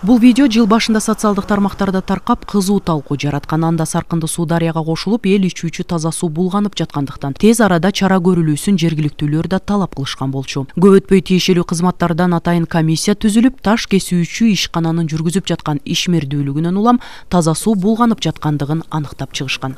Бул видео жыл башында социалдык тармактарда таркап кызуу талкуу жараткан. Анда Саркынды суу дарыяга кошулуп, эл ичүүчү таза суу булганып жаткандыктан тез арада чара көрүлүүсүн жергиликтүүлөр да талап кылышкан болчу. Көп өтпөй тиешелүү кызматтардан атайын комиссия түзүлүп, таш кесүүчү ишкананын жүргүзүп жаткан ишмердүүлүгүнөн улам таза суу булганып жаткандыгын аныктап чыгышкан.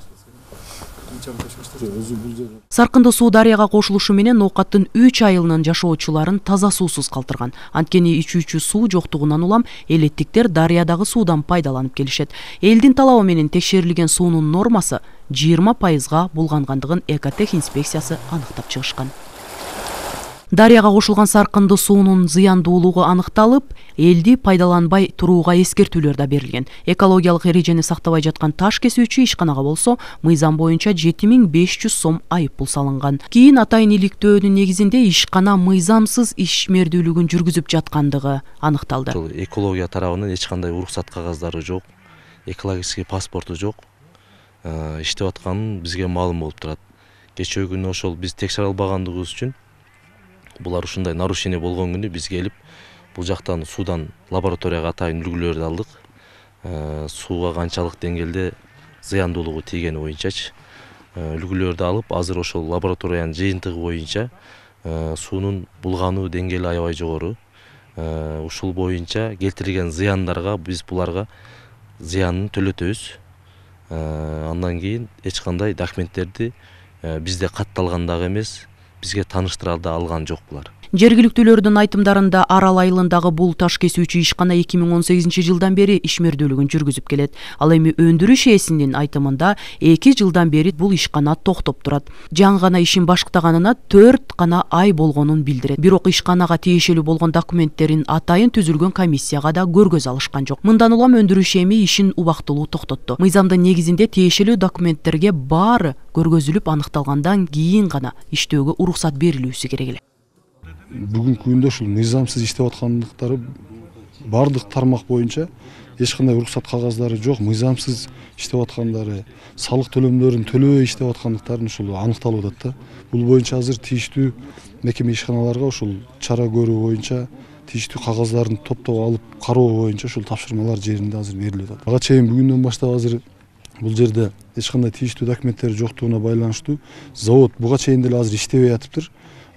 Саркынды суу дарыяга кошулушу менен ноокаттын 3 айылынын жашоочуларын таза суусуз калтырган. Анткени ичүүчү суу жоктугунан улам элеттиктер дарыядагы суудан пайдаланып келишет. Элдин талабы менен текшерилген суунун нормасы 20%га булгангандыгын Экотех инспекциясы аныктап чыгышкан. Дарыяга кошулган Саркынды суунун зыяндуулугу аныкталып, элди пайдаланбай турууга эскертүүлөр да берилген. Экологиялык эрежени сактабай жаткан таш кесүүчү ишканага болсо, мыйзам боюнча 7500 сом айып пул салынган. Кийин атайын иликтөөнүн негизинде ишкана мыйзамсыз ишмердүүлүгүн жүргүзүп жаткандыгы аныкталды. Экология тарабынан эч кандай уруксат кагаздары жок, экологический паспорту жок. Иштеп атканы бизге маалым болуп турат. Кечээ күнү ошол биз текшере албагандыгыбыз үчүн булар ушундай нарушение болгон күнү биз келип, бул жактан суудан лабораторияга атайын үлгүлөрдү алдык. Сууга канчалык деңгээлде зыяндуулугу тийгени боюнчачы үлгүлөрдү алып, азыр ошол лабораториянын жыйынтыгы боюнча суунун булгануу деңгээли аябай жогору. Ушул боюнча келтирилген зыяндарга биз буларга зыянын төлөтөбүз. Андан кийин эч кандай документтерди бизде катталган дагы эмес, бизге тааныштыра да алган жок булар. Жергиликтүүлөрдүн айтымдарында Арал айылындагы бул таш кесүүчү ишкана 2018 жылдан бери ишмердүүлүгүн жүргүзүп келет. Ал эми өндүрүш ээсинин айтымында 2 жылдан бери бул ишкана токтоп турат. Жаңы гана ишин баштаганына 4 гана ай болгонун билдирет. Бирок ишканага тиешелүү болгон документтерин атайын түзүлгөн комиссияга да көргөз алышкан жок. Мындан улам өндүрүш эми ишин убактылуу токтотту. Мыйзамдын негизинде тиешелүү документтерге баары көргөзүлүп аныкталгандан кийин гана иштөөгө уруксат берилүүсү керек эле. Бүгүнкү күндө ушул мыйзамсыз иштеп аткандыктары бардык тармак боюнча эч кандай уруксат кагаздары жок, мыйзамсыз иштеп аткандары, салык төлөмдөрүн төлөбөй иштеп аткандыктарын ушул аныкталып атат да. Бул боюнча азыр тийиштүү мекеме ишканаларга ушул чара көрүү боюнча тийиштүү кагаздарын топтоп алып кароо боюнча ушул тапшырмалар жеринде азыр берилип атат. Ага чейин бүгүндөн баштап азыр бул жерде эч кандай тийиштүү документтер жоктугуна байланыштуу завод буга чейин деле азыр иштебей атыптыр.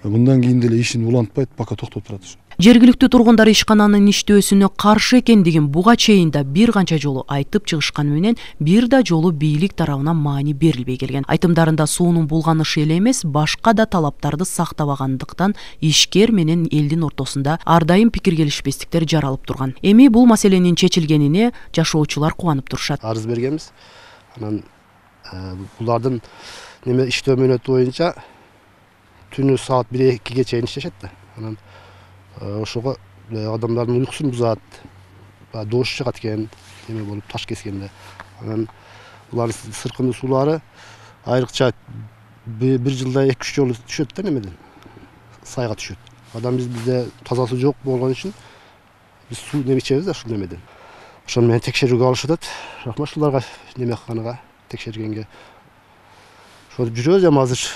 Мындан кийин деле ишин улантпайт, пока токтоп турат. Жергиликтүү тургундар ишкананын иштөөсүнө каршы экендигин буга чейин да бир канча жолу айтып чыгышканы менен бир да жолу бийлик тарабынан маани берилбей келген. Айтымдарында суунун булганышы эле эмес, башка да талаптарды сактабагандыктан ишкер менен элдин ортосунда ар дайым пикир келишпестиктер жаралып турган. Эми бул маселенин чечилгенине жашоочулар кубанып турушат. Арыз бергенбиз. Анан булардын иштөө мөөнөтү боюнча түнү саат 1-2ге чейин иштешет да. Анан ошого адамдардын уйкусун бузат, доош чыгат экен, эме болуп таш кескенде. Анан булар Саркынды суулары айрыкча бир жылда 2-3 жолу түшөт да немеден. Сайга түшөт. Адам бизде таза суу жок болгон үчүн биз суу неме ичебиз да ушул немеден. Ошону менен текшерүүгө алышып атат. Рахмат ушуларга неме кылганга, текшергенге. Ошо жүрөбүз эми азыр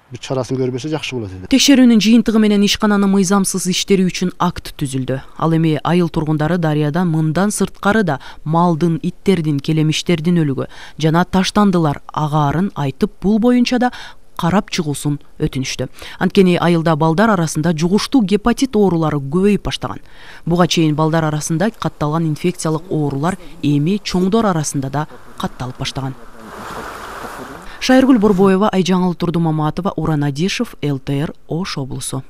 бир чарасын көрбөсө жакшы болот эди. Текшерүүнүн жыйынтыгы менен ишкананын мыйзамсыз иштери үчүн акт түзүлдү. Ал эми айыл тургундары дарыядан мындан сырткары да малдын, иттердин, келемиштердин өлүгү жана таштандылар агаарын айтып, бул боюнча да карап чыгуусун өтүнүштү. Анткени айылда балдар арасында жугуштуу гепатит оорулары көбөйүп баштаган. Буга чейин балдар арасында катталган инфекциялык оорулар эми чоңдор арасында да катталып баштаган. Шайыргүл Борбоева, Айжаңыл Турдумаматова, Уран Адишев, ЛТР, Ош облусу.